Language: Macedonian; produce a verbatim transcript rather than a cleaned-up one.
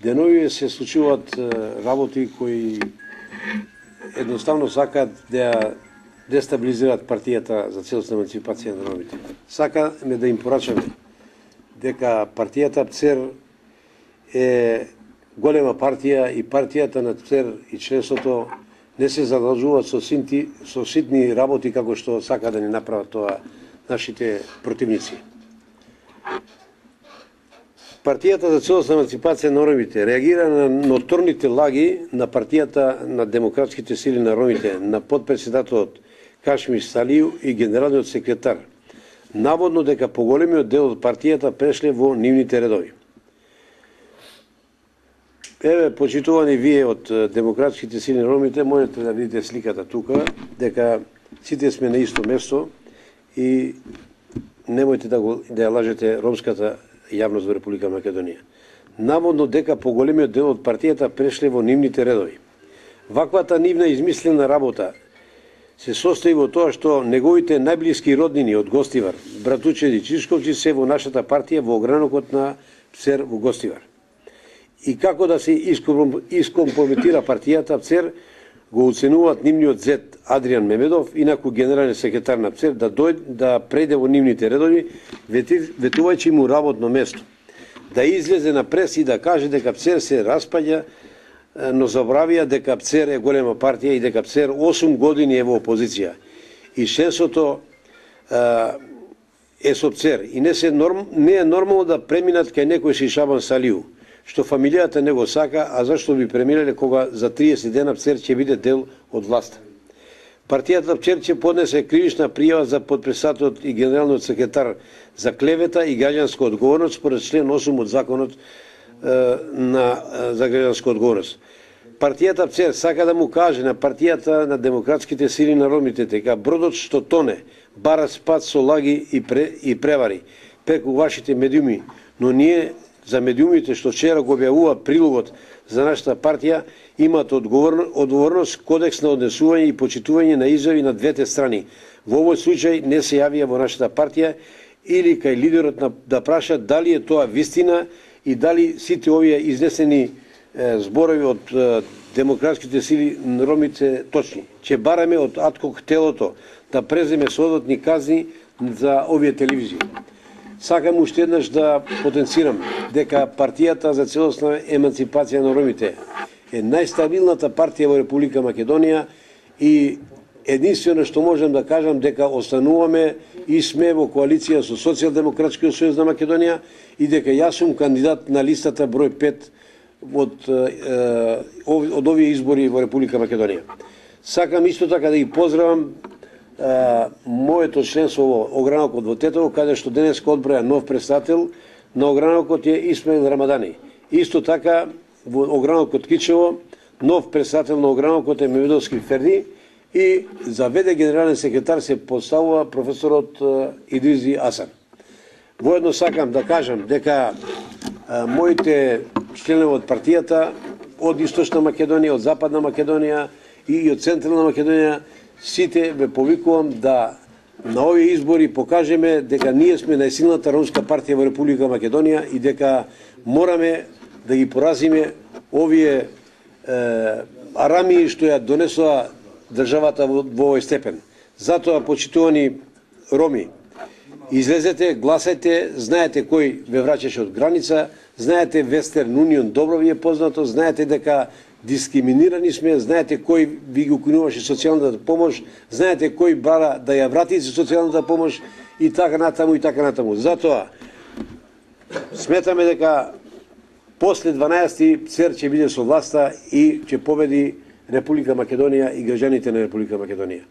денови се случуваат работи кои едноставно сакаат да дестабилизираат партијата за целосна емансипација на ромите. Сакаме да им порачаме дека партијата ПЦЕР е голема партија и партијата на ПЦЕР и членството не се задолжуваат со ситни, со ситни работи како што сака да ни направат тоа нашите противници. Партијата за целосна емансипација на ромите реагира на ноторните лаги на партијата на демократските сили на ромите, на подпредседателот Кашмир Салију и генералниот секретар, наводно дека поголемиот дел од партијата прешле во нивните редови. Еве, почитувани вие од демократските сили на ромите, можете да видите сликата тука, дека сите сме на исто место и немојте да, го, да ја лажете ромската јавност во Република Македонија. Наводно дека поголемиот дел од партијата прешле во нивните редови. Ваквата нивна измислена работа се состои во тоа што неговите најблиски роднини од Гостивар, братучеди Чишковци, се во нашата партија во огранокот на ПЦЕР во Гостивар. И како да се искомпрометира партијата ПЦЕР, го оценуваат нивниот зет Адријан Мемедов, инаку генерален секретар на ПЦЕР, да дојде да преде во нивните редови, ветувајќи му работно место. Да излезе на прес и да каже дека ПЦЕР се распаѓа, но забравија дека ПЦЕР е голема партија и дека ПЦЕР осум години е во опозиција. И членството е со ПЦЕР. И не, се норм, не е нормално да преминат кај некој Шишабан Салију, што фамилијата не го сака, а зашто би преминале кога за триесет дена ПЦЕР ќе биде дел од власта. Партијата ПЦЕР ќе поднесе кривична пријава за подпредседателот и генералниот секретар за клевета и граѓанска одговорност според член осум од законот е, на за граѓанска одговорност. Партијата ПЦЕР сака да му каже на партијата на демократските сили на ромите дека бродот што тоне бара спад со лаги и, пре, и превари преку вашите медиуми, но ние за медиумите што вчера го објавува прилогот за нашата партија имаат одговорност, кодекс на однесување и почитување на изјави на двете страни. Во овој случај не се јавија во нашата партија или кај лидерот на, да праша дали е тоа вистина и дали сите овие изнесени е, зборови од е, демократските сили на ромите точни. Че бараме од Адхок телото да преземе соодветни казни за овие телевизии. Сакам уште еднаш да потенцирам дека партијата за целосна емансипација на ромите е најстабилната партија во Република Македонија и единствено што можам да кажам дека остануваме и сме во коалиција со Социјалдемократскиот сојуз на Македонија и дека јас сум кандидат на листата број пет од, е, од овие избори во Република Македонија. Сакам исто така да ги поздравам Uh, моето членство во огранокот во Тетово, каде што денеска одброја нов председател на огранокот е Исмаил Рамадани. Исто така во огранокот Кичево нов председател на огранокот е Мемедовски Ферди и за вд генерален секретар се поставува професорот uh, Идризи Асан. Воедно сакам да кажам дека uh, моите членови од партијата од Источна Македонија, од Западна Македонија и од Централна Македонија сите ве повикувам да на овие избори покажеме дека ние сме најсилната ромска партија во Република Македонија и дека мораме да ги поразиме овие е, арамии што ја донесоа државата во, во овој степен. Затоа, почитувани роми, излезете, гласајте, знаете кој ве враќаше од граница, знаете Вестерн Унион добро ви е познато, знаете дека дискриминирани сме, знаете кој ви го укинуваше социјалната помош, знаете кој бара да ја врати социјалната помош и така натаму и така натаму. Затоа сметаме дека после дванаесети ПЦЕР ќе биде со власта и ќе победи Република Македонија и граѓаните на Република Македонија.